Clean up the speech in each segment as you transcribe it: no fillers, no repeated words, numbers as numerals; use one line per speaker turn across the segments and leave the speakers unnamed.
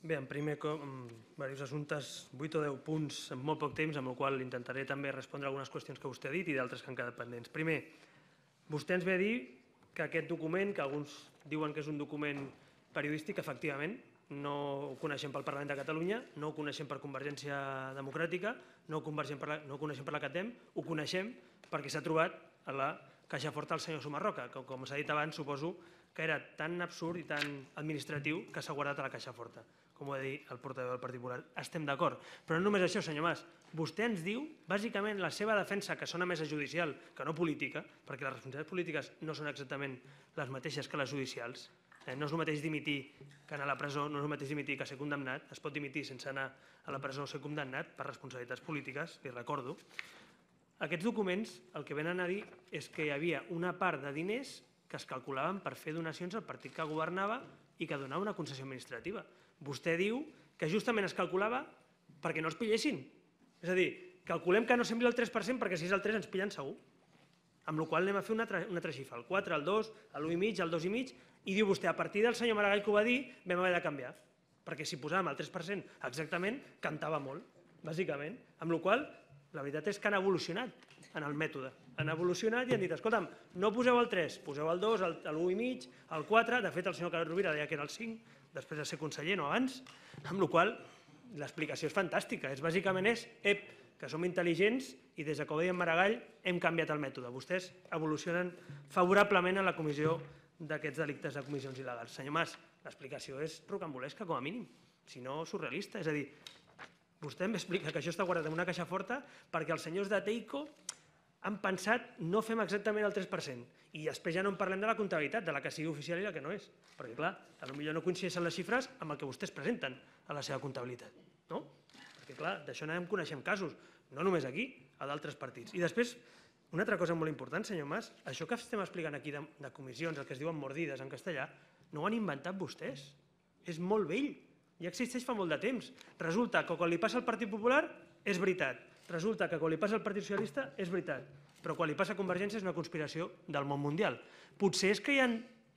Bé, en primer cop, diversos assumptes, 8 o 10 punts en molt poc temps, amb el qual intentaré també respondre algunes qüestions que vostè ha dit i d'altres que han quedat pendents. Primer, vostè ens ve a dir que aquest document, que alguns diuen que és un document periodístic, efectivament, no ho coneixem pel Parlament de Catalunya, no ho coneixem per Convergència Democràtica, no ho coneixem per la CATEM, ho coneixem perquè s'ha trobat a la caixa forta del senyor Sumarroca, que, com s'ha dit abans, suposo que era tan absurd i tan administratiu que s'ha guardat a la caixa forta. Com ho ha dit el portaveu del Partit Popular, estem d'acord. Però no només això, senyor Mas. Vostè ens diu, bàsicament, la seva defensa, que sona més a judicial que no política, perquè les responsabilitats polítiques no són exactament les mateixes que les judicials. No és el mateix dimitir que anar a la presó, no és el mateix dimitir que ser condemnat. Es pot dimitir sense anar a la presó o ser condemnat per responsabilitats polítiques, li recordo. Aquests documents el que venen a dir és que hi havia una part de diners que es calculaven per fer donacions al partit que governava i que donava una concessió administrativa. Vostè diu que justament es calculava perquè no els pillessin. És a dir, calculem que no sembli el 3% perquè si és el 3 ens pillen segur. Amb la qual cosa anem a fer una altra xifra, el 4, el 2, l'1,5, el 2,5, i diu vostè, a partir del senyor Maragall que ho va dir, vam haver de canviar. Perquè si posàvem el 3% exactament, cantava molt, bàsicament. Amb la qual cosa, la veritat és que han evolucionat en el mètode. Han evolucionat i han dit, escolta'm, no poseu el 3, poseu el 2, l'1,5, el 4, de fet el senyor Carod Rovira deia que era el 5, després de ser conseller, no abans, amb la qual cosa l'explicació és fantàstica. Bàsicament és, que som intel·ligents i des que ho deia en Maragall hem canviat el mètode. Vostès evolucionen favorablement en la comissió d'aquests delictes de comissions il·legals. Senyor Mas, l'explicació és rocambolesca, com a mínim, si no surrealista. És a dir, vostè em explica que això està guardat en una caixa forta perquè els senyors de Teico han pensat no fem exactament el 3%. I després ja no en parlem de la comptabilitat, de la que sigui oficial i la que no és. Perquè, clar, potser no coincideixen les xifres amb el que vostès presenten a la seva comptabilitat. No? Perquè, clar, d'això n'anem coneixent casos, no només aquí, a d'altres partits. I després, una altra cosa molt important, senyor Mas, això que estem explicant aquí de comissions, el que es diuen mordides en castellà, no ho han inventat vostès. És molt vell. Ja existeix fa molt de temps. Resulta que quan li passa al Partit Popular és veritat. Resulta que quan li passa al Partit Socialista és veritat. Però quan li passa a Convergència és una conspiració del món mundial. Potser és que hi ha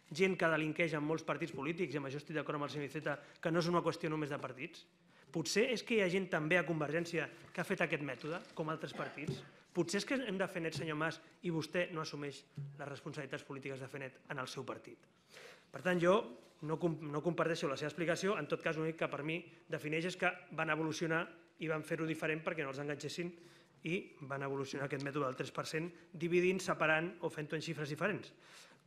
gent que delinqueix en molts partits polítics, i amb això estic d'acord amb el senyor Iceta, que no és una qüestió només de partits. Potser és que hi ha gent també a Convergència que ha fet aquest mètode, com altres partits. Potser és que hem de fer net, senyor Mas, i vostè no assumeix les responsabilitats polítiques de fer net en el seu partit. Per tant, jo no comparteixo la seva explicació, en tot cas l'únic que per mi defineix és que van evolucionar i van fer-ho diferent perquè no els enganxessin i van evolucionar aquest mètode del 3%, dividint, separant o fent-ho en xifres diferents.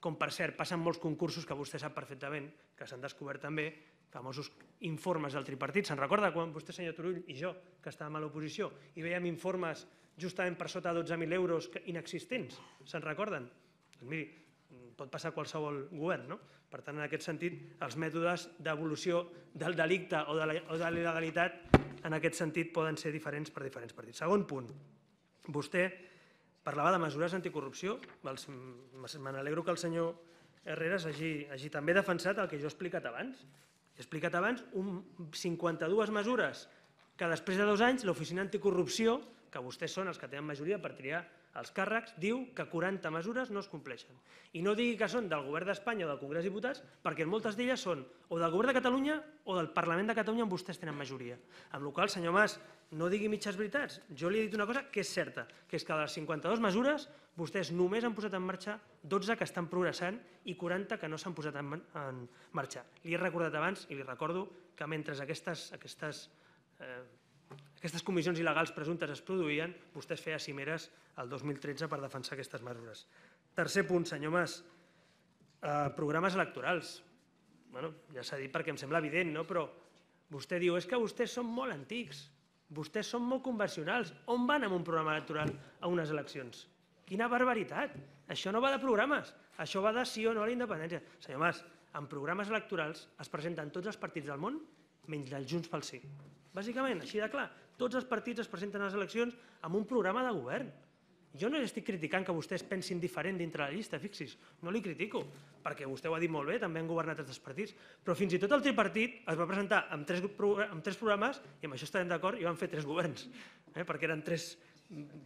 Com, per cert, passen molts concursos que vostè sap perfectament, que s'han descobert també, famosos informes del tripartit. Se'n recorda quan vostè, senyor Turull, i jo, que estàvem a l'oposició, i veiem informes justament per sota de 12.000 euros inexistents? Se'n recorden? Doncs miri, pot passar a qualsevol govern, no? Per tant, en aquest sentit, els mètodes d'evolució del delicte o de la il·legalitat en aquest sentit poden ser diferents per diferents partits. Segon punt, vostè parlava de mesures anticorrupció. Me n'alegro que el senyor Herreras hagi també defensat el que jo he explicat abans. He explicat abans 52 mesures que després de 2 anys l'Oficina Anticorrupció, que vostès són els que tenen majoria per triar els càrrecs, diu que 40 mesures no es compleixen. I no digui que són del Govern d'Espanya o del Congrés dels Diputats, perquè moltes d'elles són o del Govern de Catalunya o del Parlament de Catalunya on vostès tenen majoria. Amb la qual cosa, senyor Mas, no digui mitges veritats. Jo li he dit una cosa que és certa, que és que de les 52 mesures vostès només han posat en marxa 12 que estan progressant i 40 que no s'han posat en marxa. Li he recordat abans i li recordo que mentre aquestes comissions il·legals presumptes es produïen, vostès feien cimeres el 2013 per defensar aquestes mesures. Tercer punt, senyor Mas, programes electorals. Ja s'ha dit perquè em sembla evident, però vostè diu és que vostès són molt antics, vostès són molt convencionals. On van amb un programa electoral a unes eleccions? Quina barbaritat! Això no va de programes, això va de sí o no a la independència. Senyor Mas, en programes electorals es presenten tots els partits del món menys el Junts pel Sí. Bàsicament, així de clar, tots els partits es presenten a les eleccions amb un programa de govern. Jo no estic criticant que vostès pensin diferent dintre la llista, fixi's, no li critico, perquè vostè ho ha dit molt bé, també han governat altres partits, però fins i tot el tripartit es va presentar amb 3 programes, i amb això estarem d'acord, i van fer 3 governs, perquè eren 3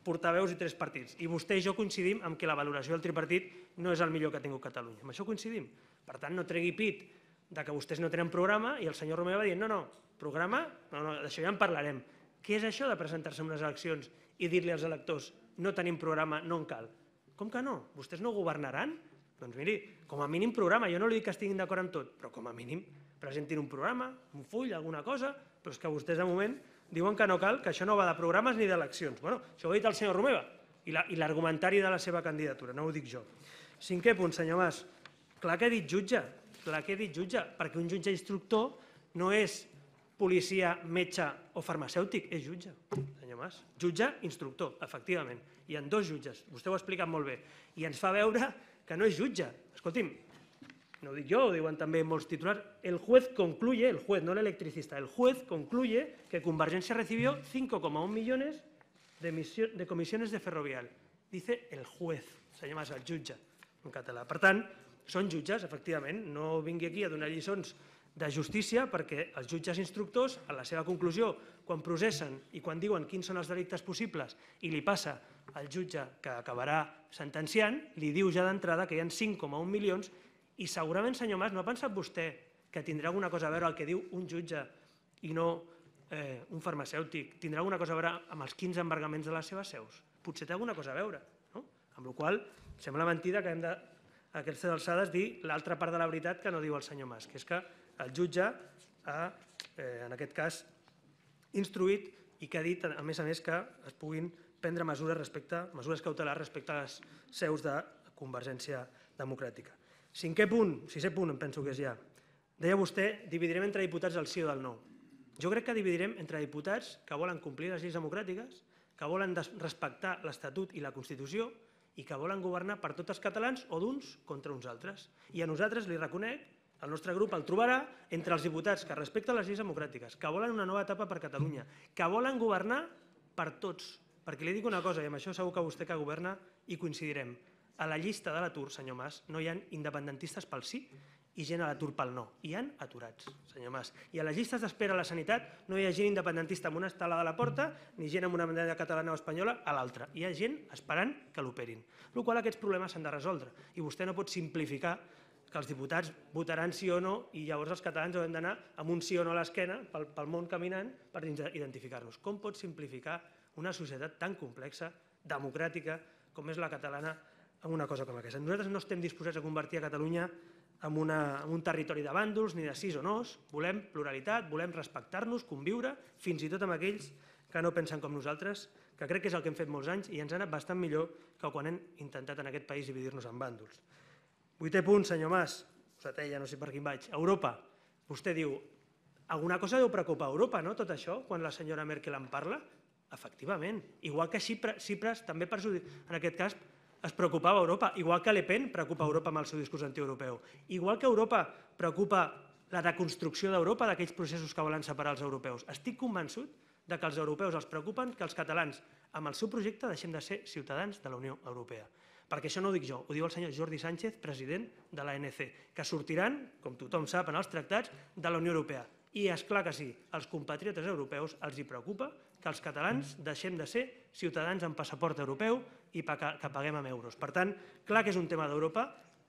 portaveus i 3 partits. I vostè i jo coincidim en que la valoració del tripartit no és el millor que ha tingut Catalunya. Amb això coincidim. Per tant, no tregui pit que vostès no tenen programa i el senyor Romeva va dir no, programa, no, d'això ja en parlarem. Què és això de presentar-se en unes eleccions i dir-li als electors no tenim programa, no en cal? Com que no? Vostès no governaran? Doncs miri, com a mínim programa, jo no li dic que estiguin d'acord amb tot, però com a mínim presentin un programa, un full, alguna cosa, però és que vostès de moment diuen que no cal, que això no va de programes ni d'eleccions. Bueno, això ho ha dit el senyor Romeva i l'argumentari de la seva candidatura, no ho dic jo. 5è punt, senyor Mas, clar que he dit jutge, perquè un jutge instructor no és policia, metge o farmacèutic, és jutge, senyor Mas. Jutge, instructor, efectivament. Hi ha 2 jutges, vostè ho ha explicat molt bé, i ens fa veure que no és jutge. Escolti'm, no ho dic jo, ho diuen també molts titulars, el juez concluye, el juez, no el electricista, el juez concluye que Convergencia recibió 5,1 millones de comisiones de ferrovial. Dice el juez, senyor Mas, el jutge, en català. Per tant, són jutges, efectivament, no vingui aquí a donar lliçons de justícia perquè els jutges instructors, en la seva conclusió, quan processen i quan diuen quins són els delictes possibles i li passa al jutge que acabarà sentenciant, li diu ja d'entrada que hi ha 5,1 milions i segurament, senyor Mas, no ha pensat vostè que tindrà alguna cosa a veure el que diu un jutge i no un farmacèutic? Tindrà alguna cosa a veure amb els 15 embargaments de les seves seus? Potser té alguna cosa a veure, no? Amb la qual cosa sembla mentida que hem de, a aquestes alçades, dir l'altra part de la veritat que no diu el senyor Mas, que és que el jutge ha, en aquest cas, instruït i que ha dit, a més, que es puguin prendre mesures cautelars respecte a les seus de Convergència Democràtica. 6è punt, em penso que és ja. Deia vostè, dividirem entre diputats del sí o del no. Jo crec que dividirem entre diputats que volen complir les lleis democràtiques, que volen respectar l'Estatut i la Constitució i que volen governar per tots els catalans o d'uns contra uns altres. I a nosaltres, li reconec, el nostre grup el trobarà entre els diputats que respecten les lleis democràtiques, que volen una nova etapa per Catalunya, que volen governar per tots. Perquè li dic una cosa, i amb això segur que vostè que governa hi coincidirem. A la llista de l'atur, senyor Mas, no hi ha independentistes pel sí i gent a l'atur pel no. Hi ha aturats, senyor Mas. I a les llistes d'espera a la sanitat no hi ha gent independentista amb una estelada a la porta ni gent amb una bandera catalana o espanyola a l'altra. Hi ha gent esperant que l'operin. Per la qual cosa aquests problemes s'han de resoldre. I vostè no pot simplificar que els diputats votaran sí o no i llavors els catalans haurem d'anar amb un sí o no a l'esquena pel món caminant per identificar-nos. Com pot simplificar una societat tan complexa, democràtica, com és la catalana, en una cosa com aquesta? Nosaltres no estem disposats a convertir a Catalunya en un territori de bàndols ni de sís o nos. Volem pluralitat, volem respectar-nos, conviure, fins i tot amb aquells que no pensen com nosaltres, que crec que és el que hem fet molts anys i ens ha anat bastant millor que quan hem intentat en aquest país dividir-nos en bàndols. 8è punt, senyor Mas, setè, ja no sé per quin vaig, Europa. Vostè diu, alguna cosa deu preocupar Europa, no, tot això, quan la senyora Merkel en parla? Efectivament. Igual que Tsipras també, en aquest cas, es preocupava Europa, igual que Le Pen preocupa Europa amb el seu discurs antieuropeu, igual que Europa preocupa la reconstrucció d'Europa d'aquells processos que volen separar els europeus. Estic convençut que els europeus els preocupen que els catalans, amb el seu projecte, deixem de ser ciutadans de la Unió Europea. Perquè això no ho dic jo, ho diu el senyor Jordi Sánchez, president de l'ANC, que sortiran, com tothom sap, en els tractats de la Unió Europea. I és clar que sí, als compatriotes europeus els preocupa que els catalans deixem de ser ciutadans amb passaport europeu i que paguem amb euros. Per tant, clar que és un tema d'Europa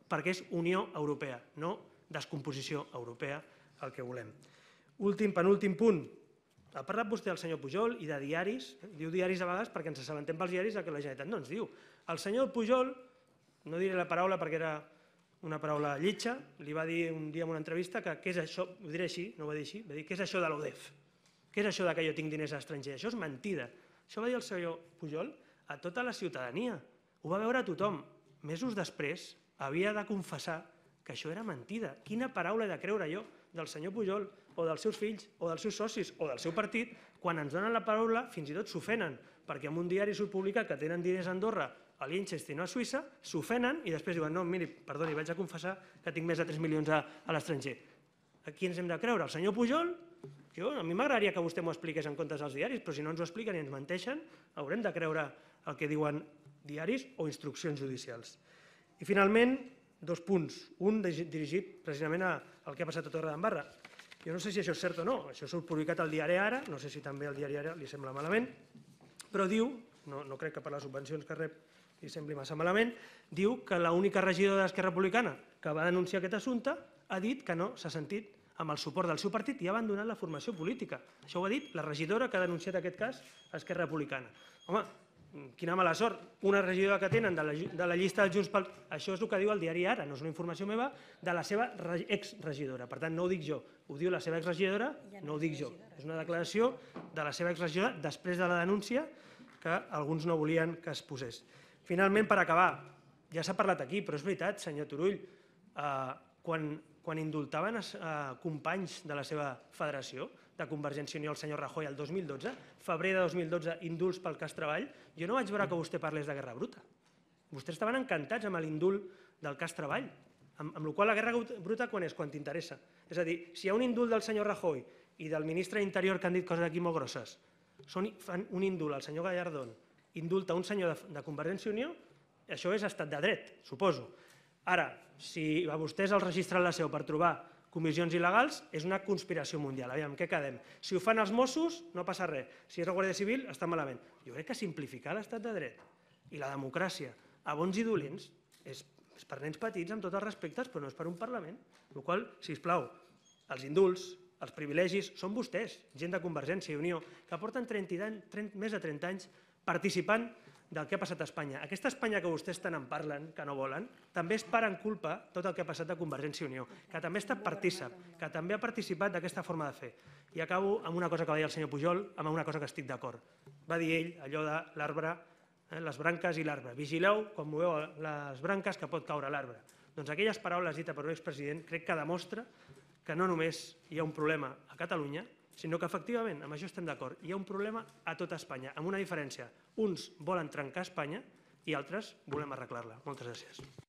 perquè és Unió Europea, no descomposició europea el que volem. Penúltim punt. Ha parlat vostè del senyor Pujol i de diaris, diu diaris a vegades perquè ens assabentem pels diaris que la Generalitat no ens diu. El senyor Pujol, no diré la paraula perquè era una paraula lletja, li va dir un dia en una entrevista que què és això, ho diré així, no ho va dir així, va dir què és això de l'ODEF, què és això que jo tinc diners a l'estranger, això és mentida. Això va dir el senyor Pujol a tota la ciutadania, ho va veure tothom. Mesos després havia de confessar que això era mentida. Quina paraula he de creure jo del senyor Pujol o dels seus fills o dels seus socis o del seu partit quan ens donen la paraula fins i tot s'ofenen perquè en un diari surt publicat que tenen diners a Andorra, a Liechtenstein o a Suïssa, s'ofenen i després diuen no, miri, perdoni, vaig a confessar que tinc més de 3 milions a l'estranger. A qui ens hem de creure? El senyor Pujol? A mi m'agradaria que vostè m'ho expliqués en comptes dels diaris, però si no ens ho expliquen i ens menteixen, haurem de creure el que diuen diaris o instruccions judicials. I finalment, 2 punts. Un dirigit precisament al que ha passat a Torredembarra. Jo no sé si això és cert o no, això surt publicat al diari Ara, no sé si també al diari Ara li sembla malament, però diu, no crec que per les subvencions que rep li sembli massa malament, diu que l'única regidora d'Esquerra Republicana que va denunciar aquest assumpte ha dit que no s'ha sentit amb el suport del seu partit i ha abandonat la formació política. Això ho ha dit la regidora que ha denunciat aquest cas a Esquerra Republicana. Home, quina mala sort. Una regidora que tenen de la llista dels Junts pel... Això és el que diu el diari Ara, no és una informació meva, de la seva exregidora. Per tant, no ho dic jo, ho diu la seva exregidora, no ho dic jo. És una declaració de la seva exregidora després de la denúncia que alguns no volien que es posés. Finalment, per acabar, ja s'ha parlat aquí, però és veritat, senyor Turull, quan indultaven companys de la seva federació, de Convergència i Unió, el senyor Rajoy, el 2012, febrer de 2012, indults pel cas Treball, jo no vaig veure que vostè parlés de guerra bruta. Vostès estaven encantats amb l'indult del cas Treball, amb la qual la guerra bruta quan és? Quan t'interessa. És a dir, si hi ha un indult del senyor Rajoy i del ministre d'Interior que han dit coses aquí molt grosses, fan un indult al senyor Gallardón, indulta un senyor de Convergència i Unió, això és estat de dret, suposo. Ara, si a vostès els registren la seu per trobar comissions il·legals, és una conspiració mundial. Aviam, què quedem? Si ho fan els Mossos, no passa res. Si és la Guàrdia Civil, està malament. Jo crec que simplificar l'estat de dret i la democràcia a bons i dolents és per nens petits, amb tots els respectes, però no és per un Parlament. Per la qual cosa, sisplau, els indults, els privilegis, són vostès, gent de Convergència i Unió, que porten més de 30 anys participant del que ha passat a Espanya. Aquesta Espanya que vostès tant en parlen, que no volen, també és part en culpa tot el que ha passat a Convergència i Unió, que també ha estat partícip, que també ha participat d'aquesta forma de fer. I acabo amb una cosa que va dir el senyor Pujol, amb una cosa que estic d'acord. Va dir ell allò de l'arbre, les branques i l'arbre. Vigileu quan moveu les branques que pot caure l'arbre. Doncs aquelles paraules dites per un expresident crec que demostra que no només hi ha un problema a Catalunya, sinó que efectivament, amb això estem d'acord, hi ha un problema a tota Espanya, amb una diferència. Uns volen trencar Espanya i altres volem arreglar-la. Moltes gràcies.